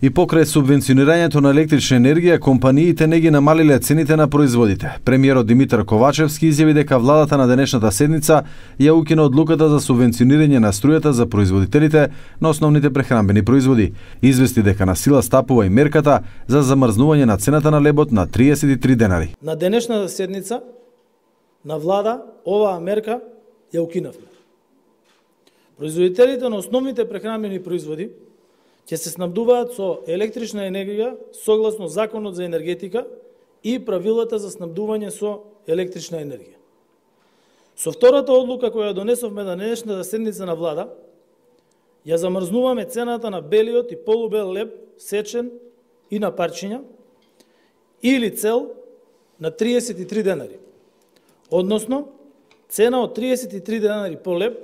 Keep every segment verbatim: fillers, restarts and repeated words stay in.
И покрај субвенционирањето на електрична енергија, компаниите не ги намалиле цените на производите. Премиерот Димитар Ковачевски изјави дека владата на денешната седница ја укина одлуката за субвенционирање на струјата за производителите на основните прехранбени производи. Извести дека на сила стапува и мерката за замрзнување на цената на лебот на триесет и три денари. На денешната седница на влада оваа мерка ја укинавме. Производителите на основните прехранбени производи ќе се снабдуваат со електрична енергија согласно Законот за енергетика и правилата за снабдување со електрична енергија. Со втората одлука која донесовме на денешната седница на влада, ја замрзнуваме цената на белиот и полубел леб сечен и на парчиња или цел на триесет и три денари. Односно, цена од триесет и три денари по леб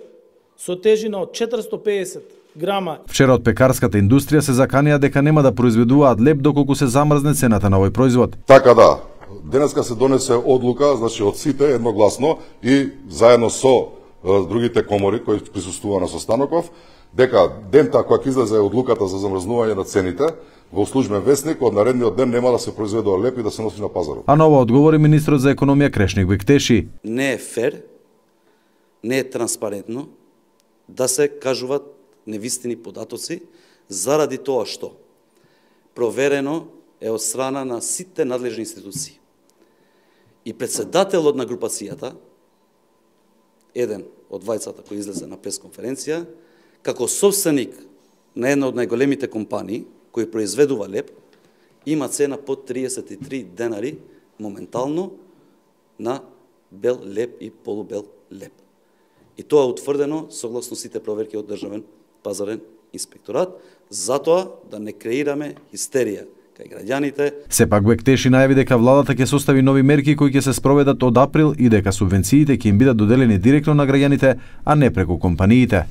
со тежина од четиристо пеесет грама. Вчера од пекарската индустрија се заканија дека нема да произведуваат леб доколку се замрзне цената на овој производ. Така да, денеска се донесе одлука, значи од сите едногласно и заедно со е, другите комори кои присуствува на состаноков, дека дента кога ќе излезе одлуката за замрзнување на цените, во службен весник од наредниот ден нема да се произведува леб и да се носи на пазарот. А ново одговори министрот за економија Крешник Бектеши. Не е фер, не е транспарентно да се кажуваат невистини податоци заради тоа што проверено е од страна на сите надлежни институции. И председателот на групацијата, еден од двајцата кој излезе на пресконференција, како собственик на една од најголемите компании кој произведува леб, има цена под триесет и три денари моментално на бел леб и полубел леб. И тоа е утврдено согласно сите проверки од Државен пазарен инспекторат, затоа да не креираме хистерија кај граѓаните. Сепак Бектеши најави дека владата ќе состави нови мерки кои ќе се спроведат од април и дека субвенциите ќе им бидат доделени директно на граѓаните, а не преку компаниите.